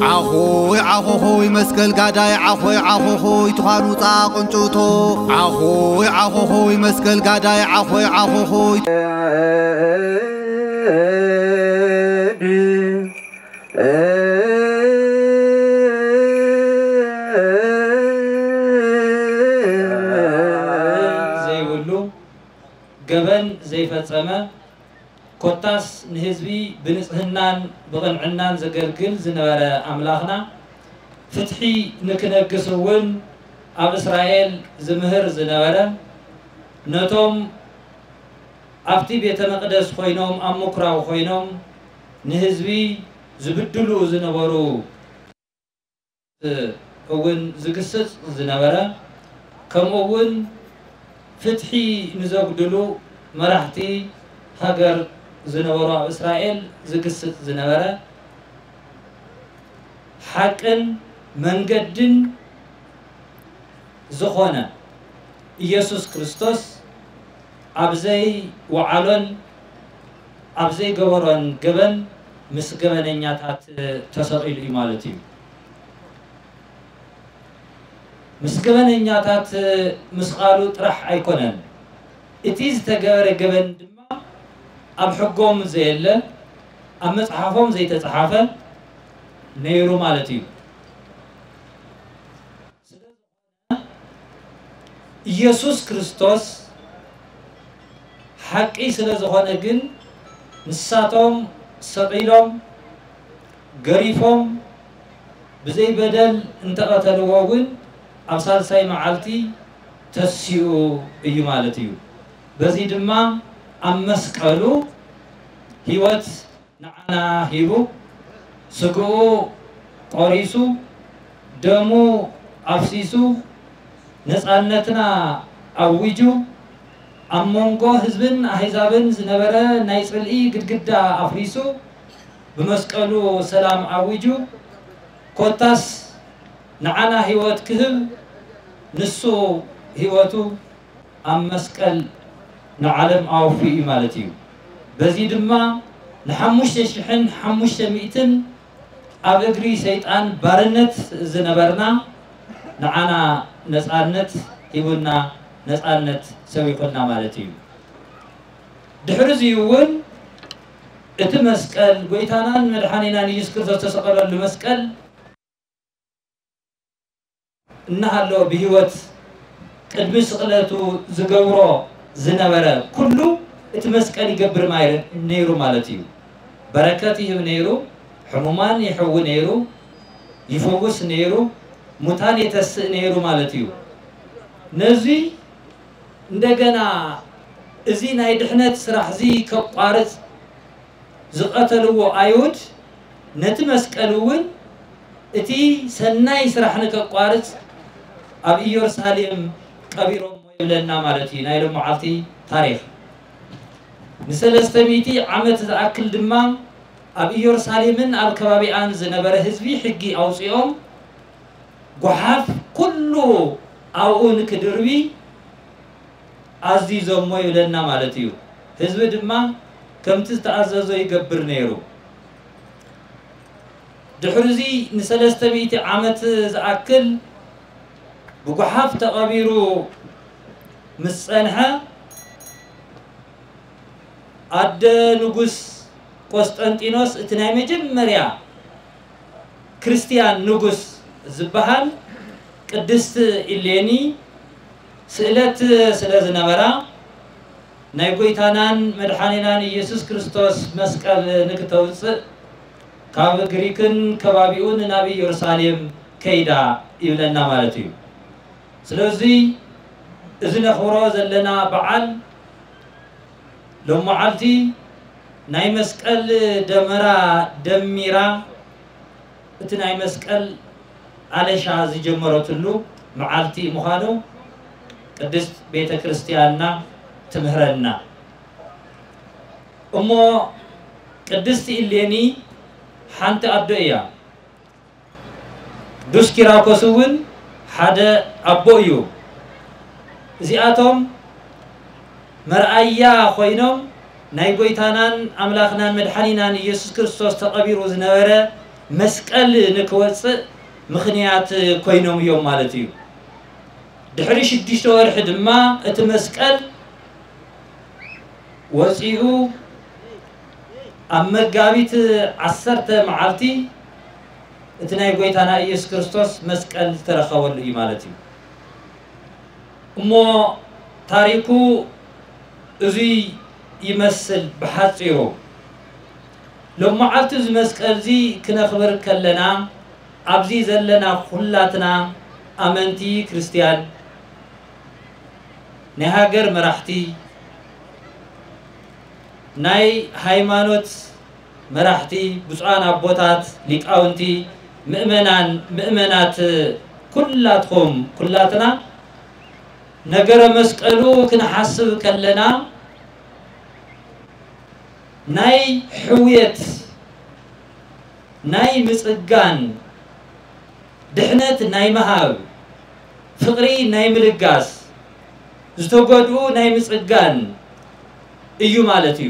ዓኾይ ዓኾኾይ መስቀል ጋዳይ ዓኾይ ዓኾኾይ ትዃን ውፃ ቅንጭቶ። ዓኾይ ዓኾኾይ መስቀል ጋዳይ ዓኾይ ዓኾኾይ። ዘይብሉ ገበን ዘይፈጸመ፣ ኮታስ ንህዝቢ ብንጽህናን ብቕንዕናን ዘገልግል ዝነበረ ኣምላኽና፣ ፍትሒ ንክነግስ እውን ኣብ እስራኤል ዝምህር ዝነበረ፣ ነቶም ኣብቲ ቤተ መቕደስ ኮይኖም ኣብ ምኩራብ ኮይኖም ንህዝቢ ዝብድሉ ዝነበሩ እውን ዝግስጽ ዝነበረ፣ ከምኡ እውን ፍትሒ ንዘጉድሉ መራሕቲ ሃገር ዝነበሩ ኣብ እስራኤል ዝግስጽ ዝነበረ፣ ሓቅን መንገድን ዝኾነ ኢየሱስ ክርስቶስ ኣብ ዘይወዓሎን ኣብ ዘይገበሮን ገበን ምስ ገበነኛታት ተሰቒሉ እዩ ማለት እዩ። ምስ ገበነኛታት ምስቓሉ ጥራሕ ኣይኮነን፣ እቲ ዝተገበረ ገበን ድማ ኣብ ሕጎም ዘየለ፣ ኣብ መጽሓፎም ዘይተጻሓፈ ነይሩ ማለት እዩ። ኢየሱስ ክርስቶስ ሓቂ ስለ ዝኾነ ግን ንሳቶም ሰቒሎም ገሪፎም ብዘይ በደል እንተቐተልዎ እውን ኣብ ሳልሳይ መዓልቲ ተሲኡ እዩ ማለት እዩ። በዚ ድማ ኣብ መስቀሉ ህይወት ንዓና ሂቡ፣ ስግኡ ቆሪሱ፣ ደሙ ኣፍሲሱ፣ ነጻነትና ኣዊጁ፣ ኣብ መንጎ ህዝብን ኣህዛብን ዝነበረ ናይ ጽልኢ ግድግዳ ኣፍሪሱ፣ ብመስቀሉ ሰላም ኣዊጁ፣ ኮታስ ንዓና ህይወት ክህብ ንሱ ህይወቱ ኣብ መስቀል ንዓለም ኣወፍዩ እዩ ማለት እዩ። በዚ ድማ ንሓሙሽተ ሽሕን ሓሙሽተ ሚእትን ኣብ እግሪ ሰይጣን ባርነት ዝነበርና ንዓና ነጻነት ሂቡና፣ ነጻነት ሰቢኹልና ማለት እዩ። ድሕሪ እዚ እውን እቲ መስቀል፣ ጎይታናን መድሓኒናን ኢየሱስ ክርስቶስ ዝተሰቐለሉ መስቀል እናሃለወ ብህይወት ቅድሚ ስቕለቱ ዝገብሮ ዝነበረ ኩሉ እቲ መስቀል ይገብር ማይ-፣ ነይሩ ማለት እዩ። በረከት ይህብ ነይሩ፣ ሕሙማን ይሕዊ ነይሩ፣ ይፈውስ ነይሩ፣ ሙታን የተስእ ነይሩ ማለት እዩ። ነዚ እንደገና እዚ ናይ ድሕነት ስራሕ እዚ ከቋርጽ ዝቐተልዎ ኣይሁድ ነቲ መስቀል እውን እቲ ሰናይ ስራሕ ንከቋርጽ ኣብ ኢየሩሳሌም ቀቢሮሞ ይብለና ማለት እዩ ናይ ሎመዓልቲ ታሪኽ። ንሰለስተ ሚእቲ ዓመት ዝኣክል ድማ ኣብ ኢየሩሳሌምን ኣብ ከባቢኣን ዝነበረ ህዝቢ ሕጊ ኣውጺኦም ጓሓፍ ኩሉ ኣብኡ ንክድርቢ ኣዚዞሞ ይብለና ማለት እዩ። ህዝቢ ድማ ከምቲ ዝተኣዘዞ ይገብር ነይሩ። ድሕሪ እዚ ንሰለስተ ሚእቲ ዓመት ዝኣክል ብጓሓፍ ተቐቢሩ ምስ ጸንሐ ኣደ ንጉስ ቆስጠንጢኖስ እቲ ናይ መጀመርያ ክርስትያን ንጉስ ዝበሃል ቅድስቲ ኢሌኒ ስእለት ስለ ዝነበራ ናይ ጎይታናን መድሓኒናን ኢየሱስ ክርስቶስ መስቀል ንክተውፅእ ካብ ግሪክን ከባቢኡን ናብ ኢየሩሳሌም ከይዳ ይብለና ማለት እዩ። ስለዚ እዚ ነኽብሮ ዘለና በዓል ሎመዓልቲ ናይ መስቀል ደመራ ደሚራ እቲ ናይ መስቀል ኣለሻ ዝጀመረትሉ መዓልቲ ምዃኑ ቅድስት ቤተ ክርስቲያንና ትምህረና። እሞ ቅድስቲ ኢሌኒ ሓንቲ ኣዶ እያ። ቅዱስ ኪራኮስ እውን ሓደ ኣቦ እዩ። እዚኣቶም መርኣያ ኮይኖም ናይ ጎይታናን ኣምላኽናን መድሓኒናን ኢየሱስ ክርስቶስ ተቐቢሩ ዝነበረ መስቀል ንክወፅእ ምኽንያት ኮይኖም እዮም ማለት እዩ። ድሕሪ ሽዱሽተ ወርሒ ድማ እቲ መስቀል ወፂኡ ኣብ መጋቢት ዓሰርተ መዓልቲ እቲ ናይ ጎይታና ኢየሱስ ክርስቶስ መስቀል ዝተረኸበሉ እዩ ማለት እዩ። እሞ ታሪኩ እዙይ ይመስል ብሓፂሩ። ሎም መዓልቲ እዚ መስቀል እዚ ክነኽብር ከለና ኣብዚ ዘለና ኩላትና ኣመንቲ ክርስትያን ናይ ሃገር መራሕቲ፣ ናይ ሃይማኖት መራሕቲ፣ ብፁዓን ኣቦታት፣ ሊቃውንቲ፣ ምእመናን፣ ምእመናት፣ ኩላትኹም፣ ኩላትና ነገረ መስቀሉ ክንሓስብ ከለና ናይ ሕውየት፣ ናይ ምጽጋን፣ ድሕነት ናይ ምሃብ፣ ፍቕሪ ናይ ምልጋስ፣ ዝተጎድኡ ናይ ምጽጋን እዩ ማለት እዩ።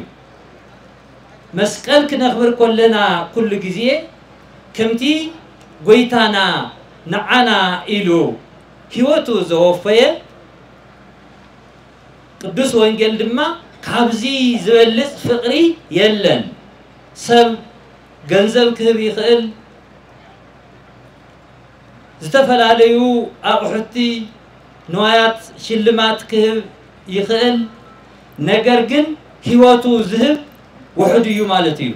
መስቀል ክነኽብር ከለና ኩሉ ግዜ ከምቲ ጎይታና ንዓና ኢሉ ህይወቱ ዘወፈየ ቅዱስ ወንጌል ድማ ካብዚ ዝበልጽ ፍቕሪ የለን። ሰብ ገንዘብ ክህብ ይኽእል፣ ዝተፈላለዩ ኣቑሑቲ ንዋያት ሽልማት ክህብ ይኽእል፣ ነገር ግን ህይወቱ ዝህብ ውሑድ እዩ ማለት እዩ።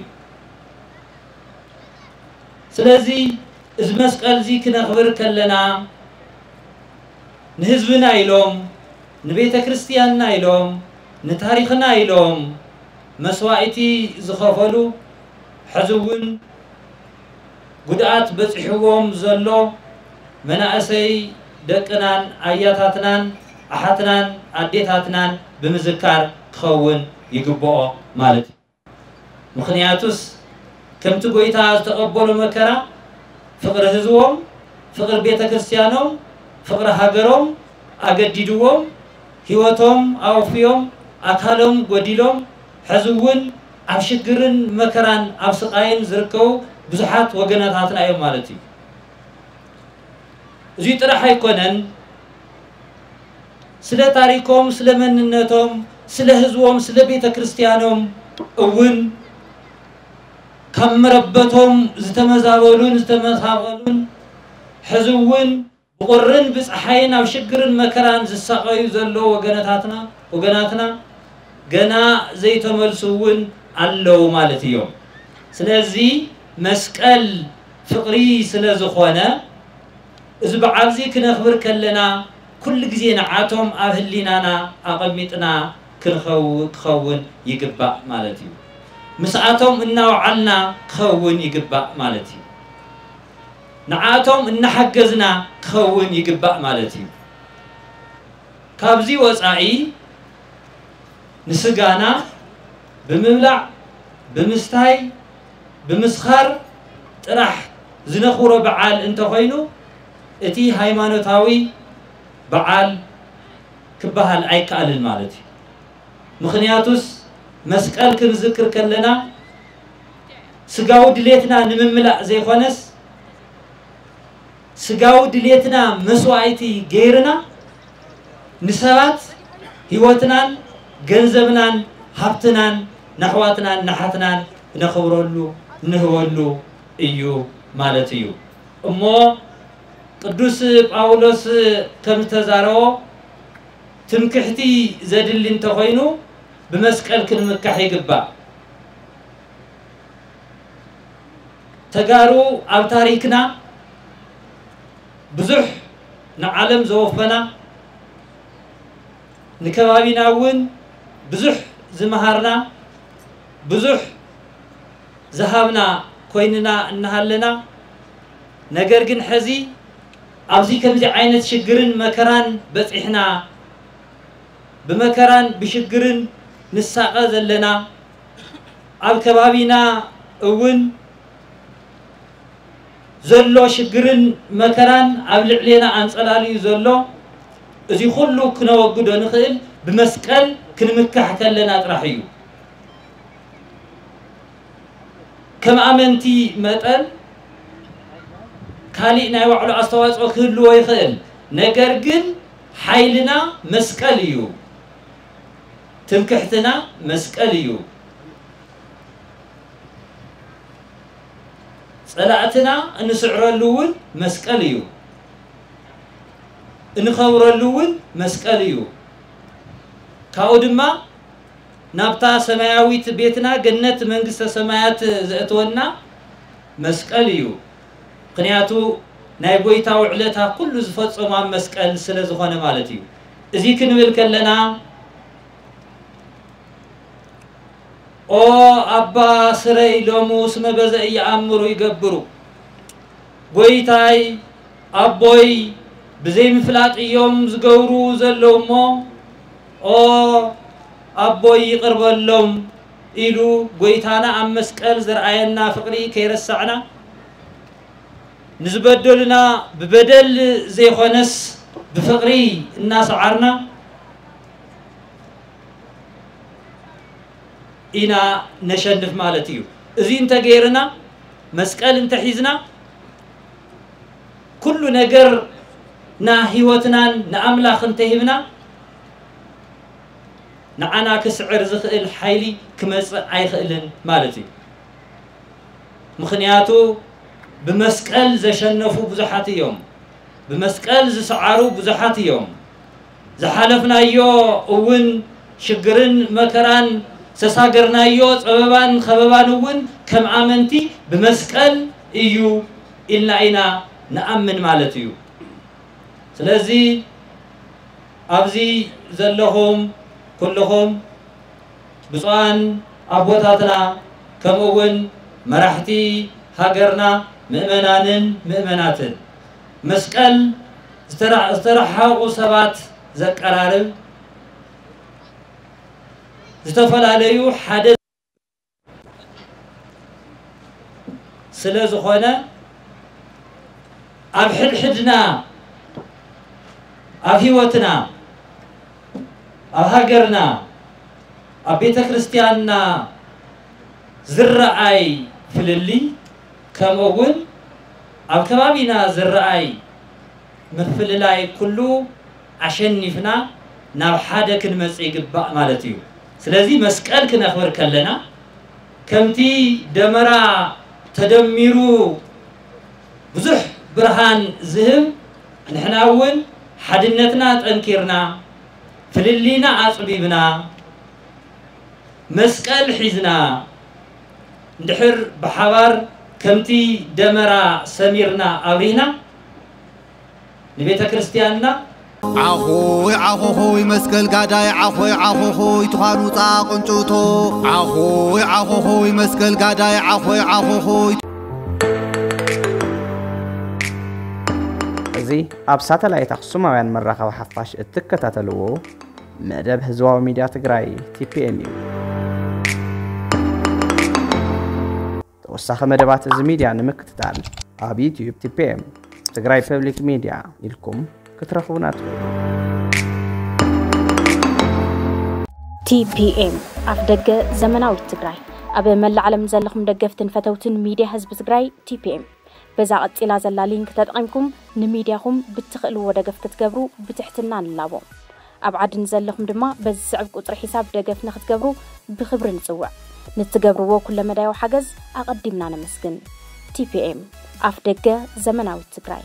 ስለዚ እዚ መስቀል እዚ ክነኽብር ከለና ንህዝብና ኢሎም፣ ንቤተ ክርስቲያንና ኢሎም፣ ንታሪኽና ኢሎም መስዋእቲ ዝኸፈሉ፣ ሕዚ እውን ጉድኣት በፂሕዎም ዘሎ መናእሰይ ደቅናን ኣያታትናን ኣሓትናን ኣዴታትናን ብምዝካር ክኸውን ይግብኦ ማለት እዩ። ምኽንያቱስ ከምቲ ጎይታ ዝተቐበሎ መከራ ፍቕሪ ህዝቦም፣ ፍቕሪ ቤተ ክርስቲያኖም፣ ፍቕሪ ሃገሮም ኣገዲድዎም፣ ህይወቶም ኣወፍዮም፣ ኣካሎም ጎዲሎም፣ ሕዚ እውን ኣብ ሽግርን መከራን ኣብ ስቓይን ዝርከቡ ብዙሓት ወገናታትና እዮም ማለት እዩ። እዚ ጥራሕ ኣይኮነን፣ ስለ ታሪኮም፣ ስለ መንነቶም፣ ስለ ህዝቦም፣ ስለ ቤተ ክርስቲያኖም እውን ካብ መረበቶም ዝተመዛበሉን ዝተመሳቐሉን ሕዚ እውን ብቑርን ብፀሓይን ኣብ ሽግርን መከራን ዝሳቐዩ ዘለዉ ወገነታትና፣ ወገናትና ገና ዘይተመልሱ እውን ኣለዉ ማለት እዮም። ስለዚ መስቀል ፍቕሪ ስለ ዝኾነ፣ እዚ በዓል እዚ ክነኽብር ከለና ኩሉ ግዜ ንዓቶም ኣብ ህሊናና ኣቐሚጥና ክንኸው-፣ ክኸውን ይግባእ ማለት እዩ። ምስኣቶም እናወዓልና ክኸውን ይግባእ ማለት እዩ። ንዓቶም እናሓገዝና ክኸውን ይግባእ ማለት እዩ። ካብዚ ወፃኢ ንስጋና ብምብላዕ፣ ብምስታይ፣ ብምስኻር ጥራሕ ዝነኽብሮ በዓል እንተኾይኑ፣ እቲ ሃይማኖታዊ በዓል ክበሃል ኣይከኣልን ማለት እዩ። ምኽንያቱስ መስቀል ክንዝክር ከለና ስጋዊ ድሌትና ንምምላእ ዘይኮነስ፣ ስጋዊ ድሌትና መስዋእቲ ገይርና ንሰባት ህይወትናን ገንዘብናን ሃብትናን ነሕዋትናን ነሓትናን ነኽብረሉ፣ ንህበሉ እዩ ማለት እዩ። እሞ ቅዱስ ጳውሎስ ከም ዝተዛረቦ፣ ትምክሕቲ ዘድሊ እንተኾይኑ ብመስቀል ክንምካሕ ይግባእ። ተጋሩ ኣብ ታሪክና ብዙሕ ንዓለም ዘወፈና፣ ንከባቢና እውን ብዙሕ ዝመሃርና፣ ብዙሕ ዝሃብና ኮይንና እናሃለና፣ ነገር ግን ሕዚ ኣብዚ ከምዚ ዓይነት ሽግርን መከራን በፂሕና፣ ብመከራን ብሽግርን ንሳቐ ዘለና፣ ኣብ ከባቢና እውን ዘሎ ሽግርን መከራን ኣብ ልዕሌና ኣንጸላልዩ ዘሎ፣ እዚ ኩሉ ክነወግዶ ንኽእል ብመስቀል ክንምካሕ ከለና ጥራሕ እዩ። ከም ኣመንቲ መጠን ካሊእ ናይ ባዕሉ ኣስተዋፅኦ ክህልዎ ይኽእል። ነገር ግን ሓይልና መስቀል እዩ። ትምክሕትና መስቀል እዩ። ጸላእትና እንስዕረሉ እውን መስቀል እዩ። እንኸብረሉ እውን መስቀል እዩ። ካብኡ ድማ ናብታ ሰማያዊት ቤትና ገነት መንግስተ ሰማያት ዘእትወና መስቀል እዩ። ምኽንያቱ ናይ ጎይታ ውዕለታ ኩሉ ዝፈጸሞ ኣብ መስቀል ስለ ዝኾነ ማለት እዩ። እዚ ክንብል ከለና ኦ ኣባ ስረይ ሎሙ ስመ በዘ እየኣምሩ ይገብሩ። ጎይታይ ኣቦይ ብዘይምፍላጥ እዮም ዝገብሩ ዘለዉ እሞ ኦ ኣቦይ ይቕርበሎም ኢሉ ጎይታና ኣብ መስቀል ዘርኣየና ፍቕሪ ከይረሳዕና ንዝበደሉና ብበደል ዘይኮነስ ብፍቕሪ እናሰዓርና ኢና ነሸንፍ ማለት እዩ። እዚ እንተገይርና መስቀል እንተሒዝና ኩሉ ነገር ና ህይወትናን ንኣምላኽ እንተሂብና ንዓና ክስዕር ዝኽእል ሓይሊ ክመጽእ ኣይኽእልን ማለት እዩ። ምኽንያቱ ብመስቀል ዘሸነፉ ብዙሓት እዮም። ብመስቀል ዝሰዓሩ ብዙሓት እዮም። ዝሓለፍናዮ እውን ሽግርን መከራን ዝተሳገርናዮ ጸበባን ከበባን እውን ከም ኣመንቲ ብመስቀል እዩ ኢልና ኢና ንኣምን ማለት እዩ። ስለዚ ኣብዚ ዘለኹም ኩልኹም ብፁዓን ኣቦታትና ከምኡ እውን መራሕቲ ሃገርና ምእመናንን ምእመናትን መስቀል ዝተራ- ዝተረሓቑ ሰባት ዘቀራርብ ዝተፈላለዩ ሓደ ስለ ዝኾነ ኣብ ሕድሕድና ኣብ ህይወትና ኣብ ሃገርና ኣብ ቤተ ክርስቲያንና ዝረኣይ ፍልልይ ከምኡ እውን ኣብ ከባቢና ዝረኣይ ምፍልላይ ኩሉ ኣሸኒፍና ናብ ሓደ ክንመጽእ ይግባእ ማለት እዩ። ስለዚ መስቀል ክነኽብር ከለና ከምቲ ደመራ ተደሚሩ ብዙሕ ብርሃን ዝህብ ንሕና እውን ሓድነትና ጠንኪርና ፍልልይና ኣጽቢብና መስቀል ሒዝና እንድሕር ብሓባር ከምቲ ደመራ ሰሚርና ኣብሪህና ንቤተ ክርስቲያንና ዓኾይ ዓኾኾይ መስቀል ጋዳይ ዓኾይ ዓኾኾይ ትዃን ውፃ ቅንጭቶ ዓኾይ ዓኾኾይ መስቀል ጋዳይ ዓኾይ ዓኾኾይ እዚ ኣብ ሳተላይት ኣኽሱማውያን መራኸቢ ሓፋሽ እትከታተልዎ መደብ ህዝባዊ ሚድያ ትግራይ ቲፒኤም እዩ። ተወሳኺ መደባት እዚ ሚድያ ንምክትታል ኣብ ዩትዩብ ቲፒኤም ትግራይ ፐብሊክ ሚድያ ኢልኩም ክትረኽቡና ትኽእሉ። ቲፒኤም ኣፍ ደገ ዘመናዊት ትግራይ። ኣብ መላእ ዓለም ዘለኹም ደገፍትን ፈተውትን ሚድያ ህዝቢ ትግራይ ቲፒኤም በዛ ቀፂላ ዘላ ሊንክ ተጠቒምኩም ንሚድያኹም ብትኽእልዎ ደገፍ ክትገብሩ ብትሕትና ንላቦ። ኣብ ዓዲ ንዘለኹም ድማ በዚ ዝስዕብ ቁፅሪ ሒሳብ ደገፍ ንክትገብሩ ብኽብሪ ንፅውዕ። ንትገብርዎ ኩለመዳያዊ ሓገዝ ኣቐዲምና ነመስግን። ቲፒኤም ኣፍ ደገ ዘመናዊት ትግራይ።